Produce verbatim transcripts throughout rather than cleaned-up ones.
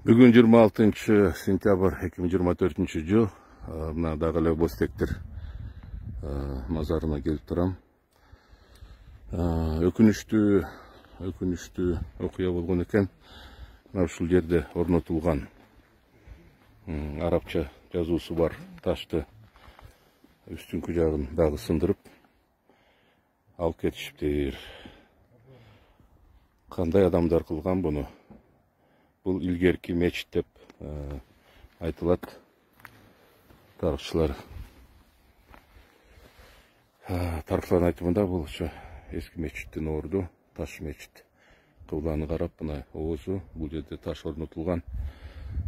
Бүгүн жыйырма алтынчы сентябрь эки миң жыйырма төртүнчү жыл. Мына дагы эле Бозтектер мазарына келип турам. Өкүнүчтүү, өкүнүчтүү окуя болгон экен. Мына ушул жерде орнотулган арабча жазуусу бар ташты үстүнкү жагын дагы сындырып алып кетишиптир. Кандай адамдар кылган буну? Бул илгерки мечит деп айтылат. Тарыхчылар тарыхчылардын айтымында бул ошо эски мечиттин орду, таш мечит. Кыбланы карап, мына оозу, бул жерде таш орнотулган.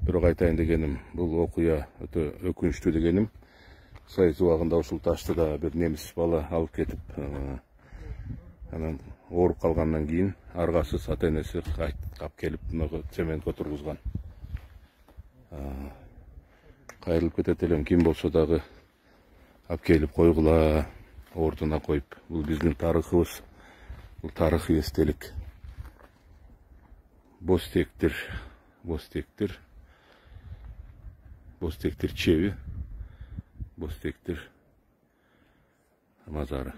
Бирок айтайын дегеним, бул окуя өтө өкүнүчтүү дегеним. Союз убагында ушул ташты да бир немис бала алып кетип, анан ооруп калгандан кийин аргасыз ата энеси кап келип цементке отургузган. Кайрылып кетет элем, ким болсо дагы алып келип койгула, ордуна коюп. Бул биздин тарыхыбыз, бул тарыхый эстелик. Бозтектер, Бозтектер, Бозтектер чеби, Бозтектер мазары.